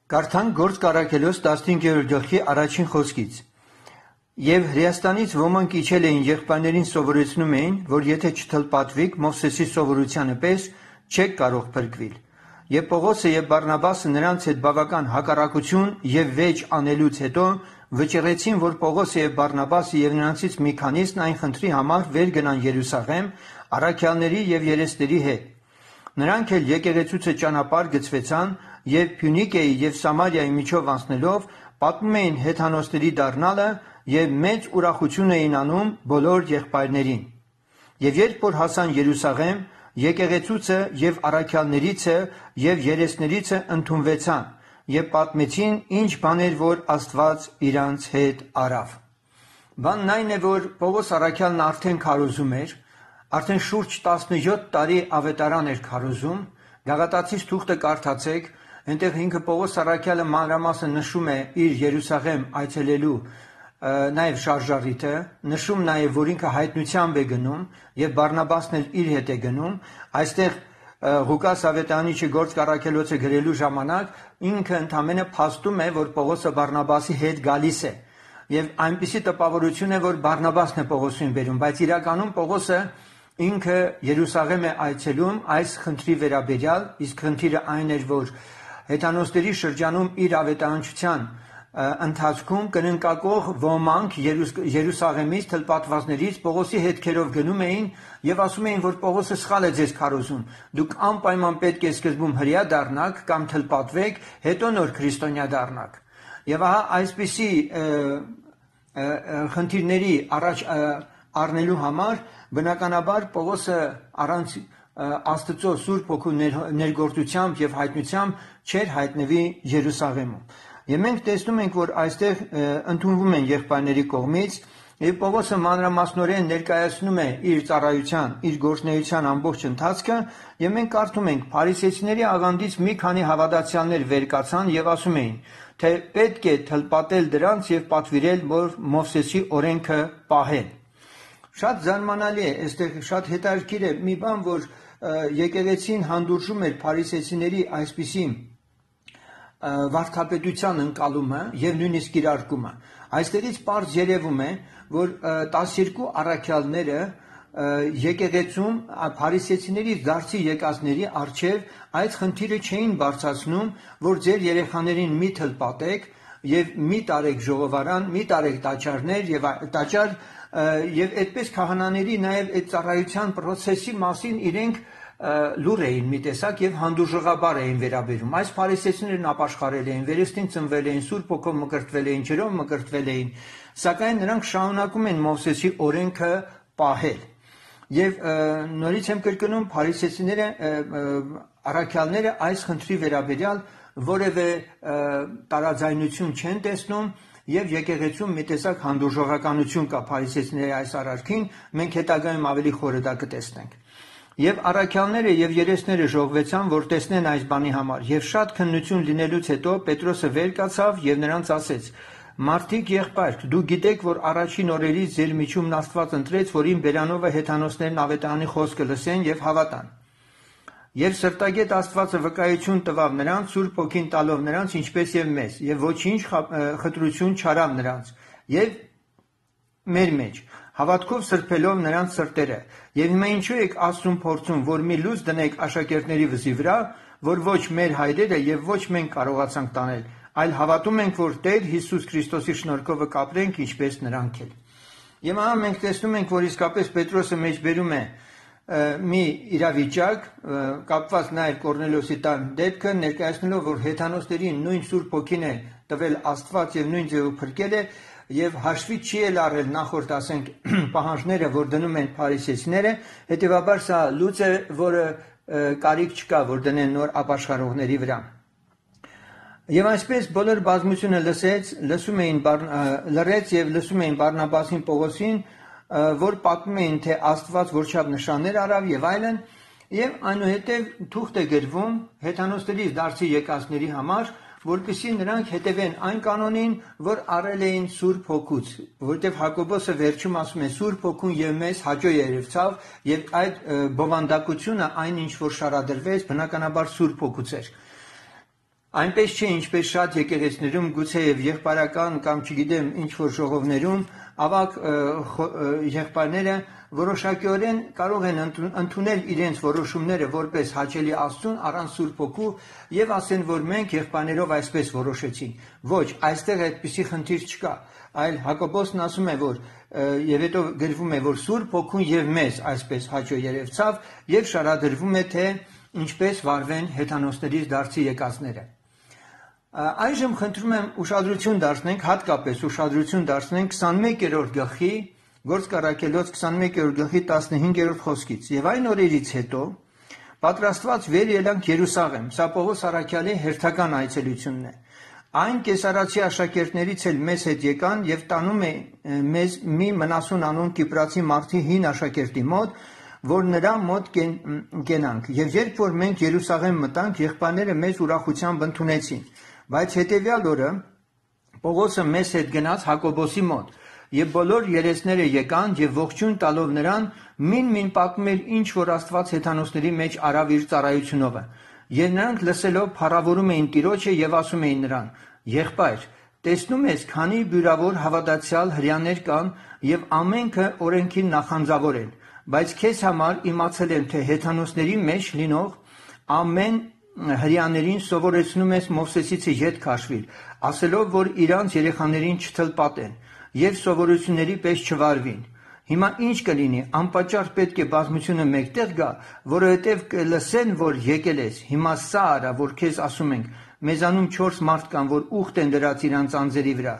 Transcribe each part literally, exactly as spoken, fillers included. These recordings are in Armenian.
Կարդանք Գործք առաքելոց տասնհինգերորդ գլխի առաջին խոսքից. Եվ Հրեաստանից ոմանք իջել էին եղբայրներին սովորեցնում էին, որ եթե չթլպատվիք Մովսեսի սովորությանը պես չեք կարող փրկվել։ Եվ Պողոսը եւ Բարնաբասը նրանց հետ բավական հակառակություն եւ վեճ անելուց հետո վճռեցին, որ Պողոսը եւ Բարնաբասը եւ նրանցից մի քանիսն այն խնդրի համար վեր գնան Երուսաղեմ առաքյալների եւ երեսների հետ։ Նրանք էլ եկեղեցուցը ճանապարհ գծվեցան եւ Փյունիկիայի եւ Սամարիայի միջով անցնելով պատմում էին հեթանոսների դառնալը եւ մեծ ուրախություն էին անում բոլոր եղբայրներին։ Եվ երբ որ հասան Երուսաղեմ, եկեղեցուցը եւ առաքյալներիցը եւ երեսներիցը ընդունվեցան եւ պատմեցին ինչ բաներ որ Աստված իրանց հետ արավ։ Բանն այն է, որ Պողոս առաքյալն արդեն քարոզում էր, արդեն շուրջ տասնյոթ տարի ավետարան էր քարոզում, Գաղատացիս թուղթը կարդացեք, այնտեղ ինքը Պողոս առաքյալը մանրամասն նշում է իր Երուսաղեմ այցելելու նաև շարժառիթը, նշում նաև, որ ինքը հայտնությամբ է գնում եւ Բարնաբասն էլ իր հետ է գնում, այստեղ Ղուկաս ավետարանիչը Գործք առաքելոցը գրելու ժամանակ ինքը ընդամենը փաստում է, որ Պողոսը Բարնաբասի հետ գալիս է եւ այնպիսի տպավորություն է, որ Բարնաբասն է Պողոսին բերում, բայց իրականում Պողոսը ինքը Երուսաղեմ է այցելում այս խնդրի վերաբերյալ, իսկ խնդիրը այն էր, որ հեթանոսների շրջանում իր ավետարանչության ընթացքում կննկակող ոմանք Երուսաղեմից թլպատվածներից Պողոսի հետքերով գնում էին եւ ասում էին, որ Պողոսը սխալ է ձեզ քարոզում։ Դուք անպայման պետք է սկզբում հրեա դառնաք կամ թլպատվեք, հետո նոր քրիստոնյա դառնաք։ Եվ ահա այսպիսի խնդիրների առաջ առնելու համար բնականաբար Պողոսը առանց Աստծո Սուրբ Հոգու ներգործությամբ եւ հայտնությամբ չէր հայտնվի Երուսաղեմում։ Եվ մենք տեսնում ենք, որ այստեղ ընդունվում են եղբայրների կողմից եւ Պողոսը մանրամասնորեն ներկայացնում է իր ծառայության, իր գործունեության ամբողջ ընթացքը եւ մենք կարդում ենք Փարիսեցիների աղանդից մի քանի հավատացյալներ վեր կացան եւ ասում էին, թե պետք է թլպատել դրանց եւ պատվիրել, որ Մովսեսի օրենքը պահեն։ Շատ զարմանալի է, այստեղ շատ հետաքրքիր է մի բան, որ եկեղեցին հանդուրժում էր փարիսեցիների այսպիսի վարդապետության ընկալումը եւ նույնիսկ կիրարկումը։ Այստեղից պարզ երևում է, որ տասներկու առաքյալները եկեղեցում փարիսեցիների դարձի եկածների արչեւ այդ խնդիրը չէին բարձրացնում, որ ձեր երեխաներին մի թլպատեք եւ մի տարեք ժողովարան, մի տարեք տաճարներ եւ տաճար եւ այդպես քահանաների նաեւ այդ ծառայության process-ի մասին իրենք լուր էին մի տեսակ եւ հանդուրժողաբար էին վերաբերում։ Այս փարիսեցիներն ապաշխարել էին, վերստին ծնվել էին, Սուրբ Հոգով մկրտվել էին, ջրով մկրտվել էին, սակայն նրանք շարունակում են Մովսեսի օրենքը պահել։ Եվ նորից եմ կրկնում, փարիսեցիները առաքյալները այս խնդրի վերաբերյալ որևէ տարաձայնություն չեն տեսնում եւ եկեղեցում մի տեսակ հանդուրժողականություն կա փարիսեցիների այս արարքին, մենք հետագայում ավելի խորը դա կտեսնենք։ Եվ առաքյալները եւ երեսները ժողվեցան, որ տեսնեն այս բանի համար, եւ շատ քննություն լինելուց հետո Պետրոսը վեր կացավ եւ նրանց ասեց. «Մարդիկ եղբայր, դու գիտեք, որ առաջին օրերից ձեր միջումն Աստված ընտրեց, որ իմ բերանովը հեթանոսներն ավետարանի խոսքը լսեն եւ հավատան։ Եվ սրտագետ Աստվածը վկայություն տվավ նրանց, Սուրբ Հոգին տալով նրանց, ինչպես եւ մեզ, եւ ոչինչ խտրություն չարավ նրանց, եւ մեր մեջ, հավատքով սրբելով նրանց սրտերը։ Եվ հիմա ինչու եք Աստծուն փորձում, որ մի լույս դնեք աշակերտների վզի վրա, որ ոչ մեր հայրերը եւ ոչ մենք կարողացանք տանել, այլ հավատում ենք, որ Տեր Հիսուս Քրիստոսի շնորհքով կապրենք, ինչպես նրանք էլ»։ Եվ ահա մենք տեսնում ենք, որ իսկապես Պետրոսը մեջ բերում է մի իրավիճակ, կապված նաև Կորնելիոսի տան դեպքը, ներկայացնելով, որ հեթանոսներին նույն Սուրբ Հոգին է տվել Աստված եւ նույն ձևով փրկել է եւ հաշվի չի էլ առել նախորդ, ասենք, պահանջները, որ դնում են փարիսեցիները, հետեւաբար սա լուծ է, որը կարիք չկա, որ դնեն նոր ապաշխարողների վրա։ Եվ այսպես բոլոր բազմությունը լսեց, լսում էին լռեց եւ լսում էին Բարնաբասին, Պողոսին, որ պատմում էին, թե Աստված որչափ նշաններ արավ եւ այլն, եւ այնուհետեւ թուղթ է գրվում հեթանոսների դարձի եկածների համար, որպեսզի նրանք հետևեն այն կանոնին, որ առել էին Սուրբ Հոգուց, որտեղ Հակոբոսը վերջում ասում է Սուրբ Հոգուն եւ մեզ հաջո երևցավ եւ այդ բովանդակությունը այն ինչ որ շարադրվեց բնականաբար Սուրբ Հոգուց էր։ Այնպես չէ, ինչպես շատ եկեղեցիներում գուցե եւ եղբայրական կամ չգիտեմ ինչ որ ժողովներում ավակ եղբայրները որոշակիորեն կարող են ընդունել իրենց որոշումները որպես հաճելի Աստծուն առանց Սուրբ Հոգու եւ ասեն, որ մենք եղբայրներով այսպես որոշեցինք։ Ոչ, այստեղ այդպիսի խնդիր չկա, այլ Հակոբոսն ասում է, որ եւ հետո գրվում է, որ Սուրբ Հոգուն եւ մեզ այսպես հաճո երևցավ եւ շարադրվում է, թե ինչպես վարվեն հեթանոսներից դարձի եկածները։ Այժմ խնդրում եմ ուշադրություն դարձնենք, հատկապես ուշադրություն դարձնենք քսանմեկերորդ գլխի, Գործք առաքելոց քսանմեկերորդ գլխի տասնհինգերորդ խոսքից։ Եվ այն օրերից հետո պատրաստված վեր ելանք Երուսաղեմ։ Սա Պողոս առաքյալի հերթական այցելությունն է։ Այն կեսարացի աշակերտներից էլ մեզ հետ եկան եւ տանում է մեզ մի Մնասուն անուն Կիպրացի մարդի հին աշակերտի մոտ, որ նրա մոտ գենանք։ Եվ երբ որ մենք Երուսաղեմ մտանք, եղբայրները մեզ ուրախությամբ ընդունեցին։ Բայց հետևյալ օրը Պողոսը մեզ հետ գնաց Հակոբոսի մոտ, եւ բոլոր երեսները եկան եւ ողջույն տալով նրան մին-մին պատմում էր ինչ որ Աստված հեթանոսների մեջ արավ իր ծառայությունով։ Եվ նրանք լսելով փառավորում էին Տիրոջը եւ ասում էին նրան. «Եղբայր, տեսնում ես, քանի բյուրավոր հավատացյալ հրյաներ կան եւ ամենքը օրենքին նախանձավոր են, բայց քեզ համար իմացել եմ, թե հեթանոսների մեջ լինող ամեն հրյաներին սովորեցնում ես Մովսեսից ետ քաշվիլ, ասելով, որ իրանց երեխաներին չթլպատեն եւ սովորությունների պես չվարվին։ Հիմա ինչ կլինի, անպատճառ պետք է բազմությունը մեկտեղ գա, որովհետեւ կլսեն, որ եկել ես։ Հիմա սա արա, որ քեզ ասում ենք, մեզանում չորս մարդ կան, որ ուխտ են դրած իրանց անձերի վրա։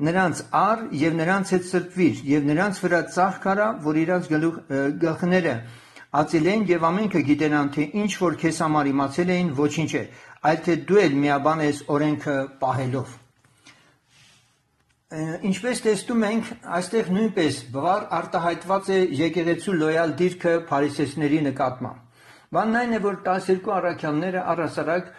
Նրանց առ եւ նրանց հետ սրբվիր եւ նրանց վրա ծաղկ արա, որ իրանց գլխները ածելեն եւ ամենքը գիտենան, թե ինչ որ քեզ համար իմացել էին, ոչինչ է, այլ թե դու էլ միաբան ես օրենքը պահելով»։ Ինչպես տեսնում ենք, այստեղ նույնպես բվար արտահայտված է եկեղեցու լոյալ դիրքը փարիսեցիների նկատմամբ։ Բանն այն է, որ տասներկու առաքյալները առհասարակ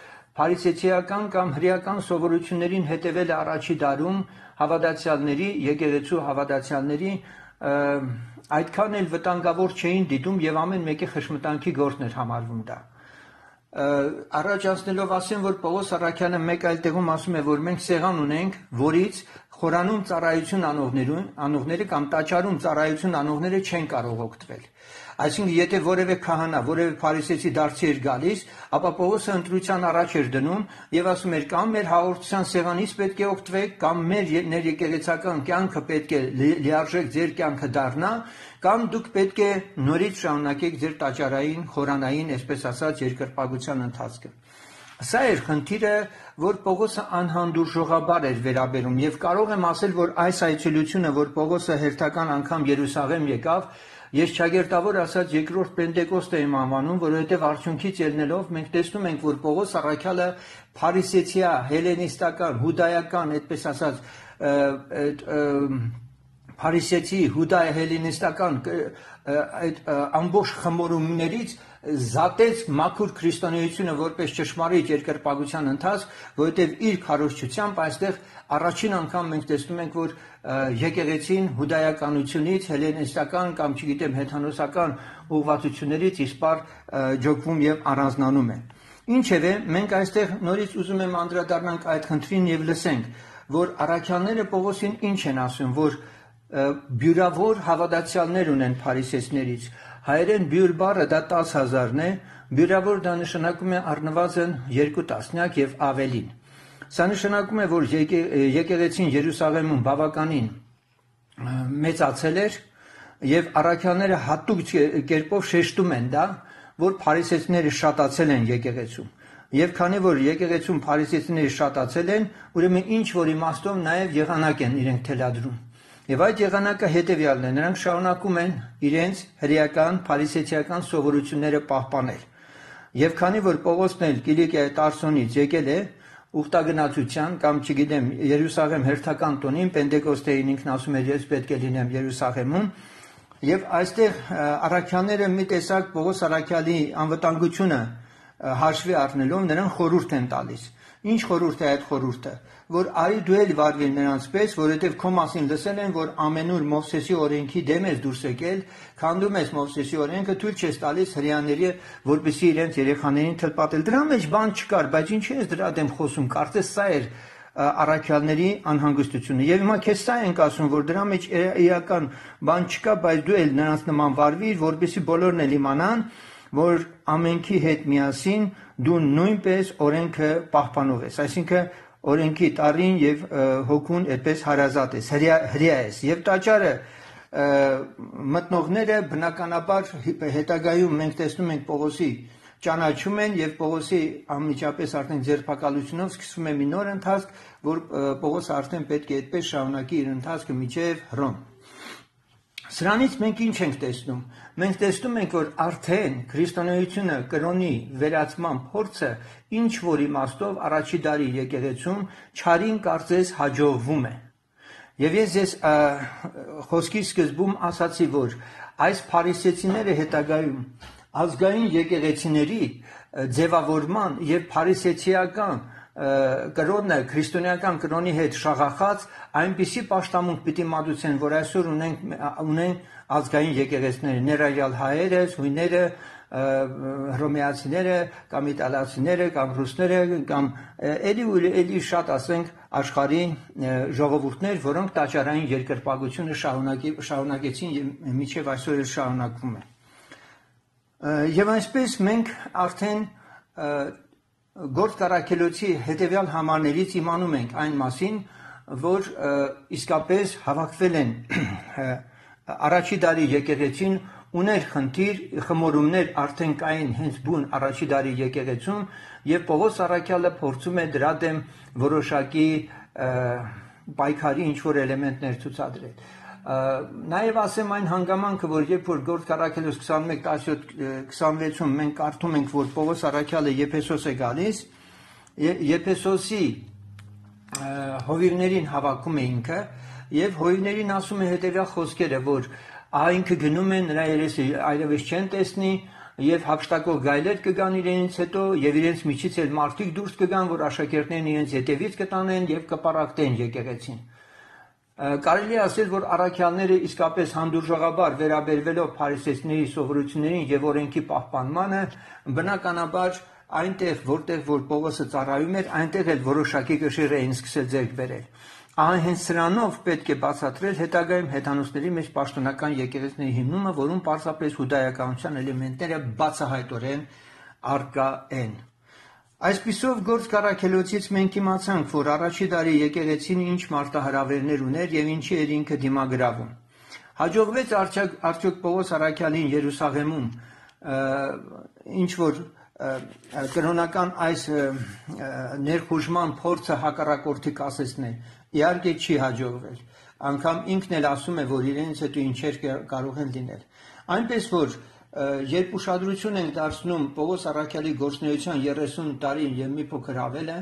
փարիսեցիական կամ հրեական սովորություններին հետևել առաջի դարում հավատացյալների, եկեղեցու հավատացյալների այդքան էլ վտանգավոր չէին դիտում եւ ամեն մեկի խշմտանքի գործն էր համարվում դա։ Առաջ անցնելով ասեմ, որ Պողոս առաքյալը մեկ այլ տեղում ասում է, որ մենք սեղան ունենք, որից խորանում ծառայություն անողներուն, անողները կամ տաճարում ծառայություն անողները չեն կարող օգտվել։ Այսինքն, եթե որևէ քահանա, որևէ փարիսեցի դարձի էր գալիս, ապա Պողոսը ընտրության առաջ էր դնում եւ ասում էր կամ մեր հաղորդության սեղանից պետք է օգտվեք, կամ մեր ներեկեղեցական կյանքը պետք է լիարժեք ձեր կյանքը դառնա, կամ դուք պետք է նորից շարունակեք ձեր տաճարային, խորանային, այսպես ասած, երկրպագության ընթացքը։ Սա էր խնդիրը, որ Պողոսը անհանդուրժողաբար էր վերաբերում եւ կարող եմ ասել, որ այս այցելությունը, որ Պողոսը հերթական անգամ Երուսաղեմ եկավ, ես ճագերտավոր ասած երկրորդ Պենտեկոստ եմ անվանում, որովհետեւ արդյունքից ելնելով մենք տեսնում ենք, որ Պողոս առաքյալը փարիսեցիա, հելենիստական, հուդայական, այդպես ասած, փարիսեցի, հուդայ հելենիստական այդ ամբողջ խմորումներից զատեց մաքուր քրիստոնեությունը որպես ճշմարիտ երկրպագության ընթացք, որովհետև իր քարոզչությամբ այստեղ առաջին անգամ մենք տեսնում ենք, որ եկեղեցին հուդայականությունից հելենիստական կամ չգիտեմ հեթանոսական ուղղվածություններից իսպար ջոկվում եւ առանձնանում է։ Ինչևէ, մենք այստեղ նորից ուզում եմ անդրադառնանք այդ խնդրին եւ լսենք, որ առաքյալները Պողոսին ինչ են ասում, որ բյուրավոր հավատացյալներ ունեն փարիսեցիներից։ Հայերեն բյուր բառը դա տասը հազարն է, բյուրավոր դա նշանակում է առնվազն երկու տասնյակ եւ ավելին։ Սա նշանակում է, որ եկեղեցին Երուսաղեմում բավականին մեծացել էր եւ առաքյալները հատուկ կերպով շեշտում են դա, որ փարիսեցիները շատացել են եկեղեցում։ Եվ քանի որ եկեղեցում փարիսեցիները շատացել են, ուրեմն ինչ որ իմաստով նաեւ եղանակ են իրենք թելադրում։ Եվ այդ եղանակը հետևյալն է, նրանք շարունակում են իրենց հրեական, փարիսեցիական սովորությունները պահպանել։ Եվ քանի որ Պողոսն էլ Կիլիկիայի Տարսոնից եկել է ուխտագնացության կամ չգիտեմ Երուսաղեմ հերթական տոնին, Պենտեկոստեին ինքն ասում էր ես պետք է լինեմ Երուսաղեմում, եւ այստեղ առաքյալները մի տեսակ Պողոս առաքյալի անվտանգությունը հաշվի առնելով նրան խորհուրդ են տալիս։ Ինչ խորհուրդ է այդ խորհուրդը, որ արի դու էլ վարվիր նրանց պես, որովհետև քո մասին լսել են, որ ամենուր Մովսեսի օրենքի դեմ ես դուրս եկել, քանդում ես Մովսեսի օրենքը, թույլ չես տալիս հրեաների, որպեսզի իրենց երեխաներին թլպատել։ Դրա մեջ բան չկար, բայց ինչի ես դրա դեմ խոսում, կարծես սա էր առաքյալների անհանգստությունը։ Եվ հիմա քեզ սա ենք ասում, որ դրա մեջ իրական բան չկա, բայց դու էլ նրանց նման վարվիր, որպեսզի բոլորն էլ իմանան, որ ամենքի հետ միասին դու նույնպես օրենքը պահպանող ես, այսինքն օրենքի տարին եւ հոգուն այդպես հարազատ ես, հրյա ես։ Եվ տաճարը մտնողները բնականաբար հետագայում մենք տեսնում ենք Պողոսի ճանաչում են եւ Պողոսի անմիջապես արդեն ձերբակալությունով սկսվում է մի նոր ընթացք, որ Պողոսը արդեն պետք է այդպես շարունակի իր ընթացքը մինչեւ Հռոմ։ Սրանից մենք ինչ ենք տեսնում։ Մենք տեսնում ենք, որ արդեն քրիստոնեությունը կրոնի վերացման փորձը ինչ որ իմաստով առաջի դարի եկեղեցում չարին կարծես հաջողվում է։ Եվ ես ես խոսքի սկզբում ասացի, որ այս փարիսեցիները հետագայում ազգային եկեղեցիների ձևավորման եւ փարիսեցիական կրոնը քրիստոնեական կրոնի հետ շաղախած այնպիսի պաշտամունք պիտի մատուցեն, որ այսօր ունենք ունեն ազգային եկեղեցիները, ներառյալ հայերը, հույները, հռոմեացիները, կամ իտալացիները, կամ ռուսները, կամ էլի ու էլի շատ ասենք աշխարհի ժողովուրդներ, որոնք տաճարային երկրպագությունը շարունակի շարունակեցին եւ մինչեւ այսօր էլ շարունակվում է։ Եվ այսպես մենք արդեն Գործք առաքելոցի հետևյալ համարներից իմանում ենք այն մասին, որ իսկապես հավաքվել են առաջի դարի եկեղեցին ուներ խնդիր, խմորումներ արդեն կային հենց բուն առաջի դարի եկեղեցում եւ Պողոս առաքյալը փորձում է դրա դեմ որոշակի պայքարի ինչ որ էլեմենտներ ցուցադրել։ Նաև ասեմ այն հանգամանքը, որ երբ որ Գործք առաքելոց քսանմեկ տասնյոթ քսանվեցում մենք կարդում ենք, որ Պողոս առաքյալը Եփեսոս է գալիս, Եփեսոսի հովիվներին հավաքում է ինքը եւ հովիվներին ասում է հետեւյալ խոսքերը, որ ահա ինքը գնում է, նրա երեսը այլևս չեն տեսնի եւ հափշտակող գայլեր կգան իրենից հետո եւ իրենց միջից էլ մարդիկ դուրս կգան, որ աշակերտներն իրենց հետևից կտանեն եւ կպարակտեն եկեղեցին։ Կարելի է ասել, որ առաքյալները իսկապես հանդուրժողաբար վերաբերվելով փարիսեցիների սովորություններին եւ օրենքի պահպանմանը, բնականաբար այնտեղ, որտեղ որ Պողոսը ծառայում էր, այնտեղ էլ որոշակի կշիռ էին սկսել ձեռք բերել։ Ահա հենց սրանով պետք է բացատրել հետագայում հեթանոսների մեջ պաշտոնական եկեղեցիների հիմնումը, որում պարզապես հուդայականության էլեմենտները բացահայտորեն առկա են։ Այսպիսով Գործք առաքելոցից մենք իմացանք, որ առաջի դարի եկեղեցին ինչ մարտահրավերներ ուներ եւ ինչի էր ինքը դիմագրավում։ Հաջողվեց արդյոք Պողոս առաքյալին Երուսաղեմում ինչ որ կրոնական այս ներխուժման փորձը հակառակորդի կասեցնել։ Իհարկե չի հաջողվել։ Անկամ ինքն էլ ասում է, որ իրենց հետո ինչեր կարող են լինել։ Այնպես որ երբ ուշադրություն ենք դարձնում Պողոս առաքյալի գործունեության երեսուն տարին եւ մի փոքր ավելը,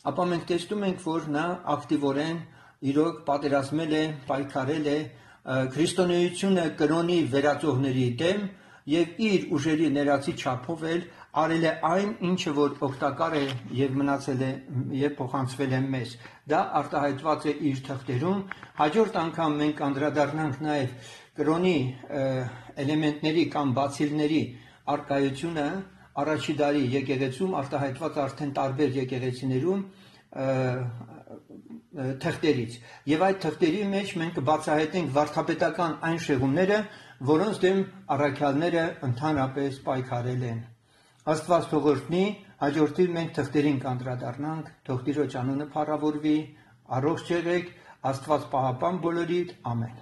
ապա մենք տեսնում ենք, որ նա ակտիվորեն իրոք պատերազմել է, պայքարել է քրիստոնեությունը կրոնի վերածողների դեմ եւ իր ուժերի ներածի չափով էլ արել է այն, ինչը որ օգտակար է եւ մնացել է եւ փոխանցվել է մեզ։ Դա արտահայտված է իր թղթերում։ Հաջորդ անգամ մենք անդրադառնանք նաեւ կրոնի էլեմենտների կամ բացիլների արկայությունը առաջի դարի եկեղեցում արտահայտված արդեն տարբեր եկեղեցիներում թղթերից եւ այդ թղթերի մեջ մենք կբացահայտենք վարդապետական այն շեղումները, որոնց դեմ առաքյալները ընդհանրապես պայքարել են։ Աստված թող օրհնի, հաջորդիվ մենք թղթերին կանդրադառնանք, թող Տիրոջ անունը փառավորվի, առողջ եղեք, Աստված պահապան բոլորիդ, ամեն։